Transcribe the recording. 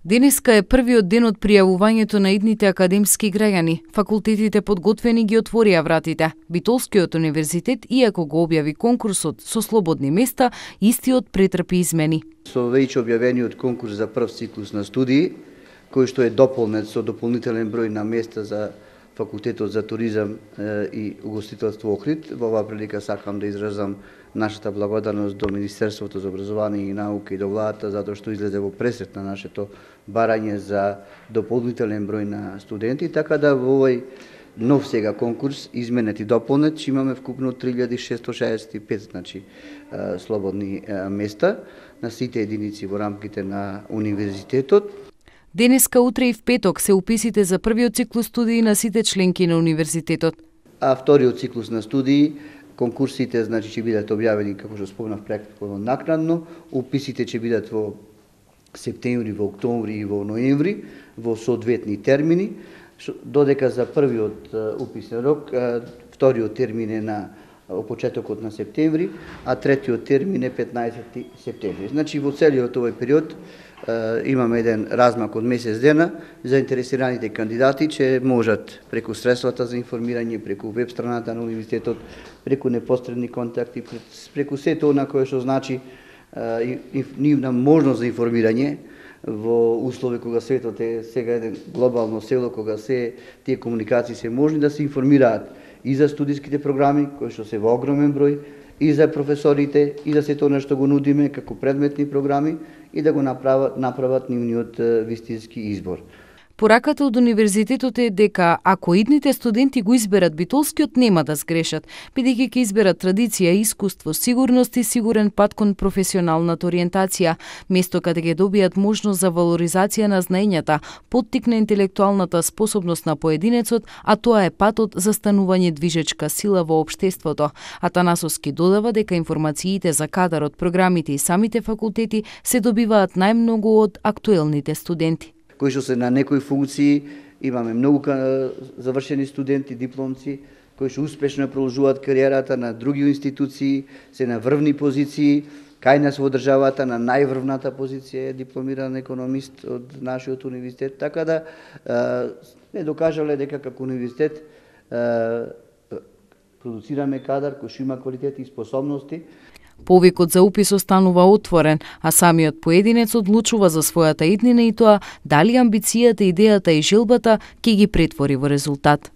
Денеска е првиот ден од пријавувањето на идните академски граѓани. Факултетите подготвени ги отворија вратите. Битолскиот универзитет, иако го објави конкурсот со слободни места, истиот претрпи измени. Со веќе објавениот конкурс за прв циклус на студии, кој што е дополнет со дополнителен број на места за Факултетот за туризам и угостителство Охрид, во оваа прилика сакам да изразам нашата благодарност до Министерството за образование и наука и до владата затоа што излезе во пресет на нашето барање за дополнителен број на студенти, така да во овој нов сега конкурс изменет и дополнет имаме вкупно 3665 значи слободни места на сите единици во рамките на универзитетот. Денеска, утре и в петок се уписите за првиот циклус студии на сите членки на универзитетот. А вториот циклус на студии, конкурсите значи ќе бидат објавени, како што спомнав, претходно накратно. Уписите ќе бидат во септември, во октомври и во ноември, во соодветни термини, додека за првиот уписен рок, вториот термин е на почетокот на септември, а третиот термин е 15 септември. Значи во целиот овој период имаме еден размак од месец дена. Заинтересираните кандидати че можат преку средствата за информирање, преку веб страната на универзитетот, преку непосредни контакти, преку сето она кое што значи нивна можност за информирање во услови кога светот е сега еден глобално село, кога се тие комуникации се можни да се информираат и за студиските програми, кои што се во огромен број, и за професорите, и за сето она што го нудиме како предметни програми, и да го направат нивниот вистински избор. Пораката од универзитетот е дека ако идните студенти го изберат битолскиот, нема да сгрешат, бидејќи ќе изберат традиција, искуство, сигурност и сигурен пат кон професионалната ориентација, место каде ќе добијат можност за валоризација на знаењата, поттик на интелектуалната способност на поединецот, а тоа е патот за станување движечка сила во општеството. Атанасовски додава дека информациите за кадарот, програмите и самите факултети се добиваат најмногу од актуелните студенти, кои што се на некои функции. Имаме многу завршени студенти, дипломци, кои што успешно продолжуваат кариерата на други институции, се на врвни позиции. Кај нас во државата на најврвната позиција е дипломиран економист од нашиот универзитет, така да не докажале дека како универзитет продуцираме кадар кој што има квалитети и способности. Повикот за упис останува отворен, а самиот поединец одлучува за својата иднина и тоа дали амбицијата, идејата и желбата ќе ги претвори во резултат.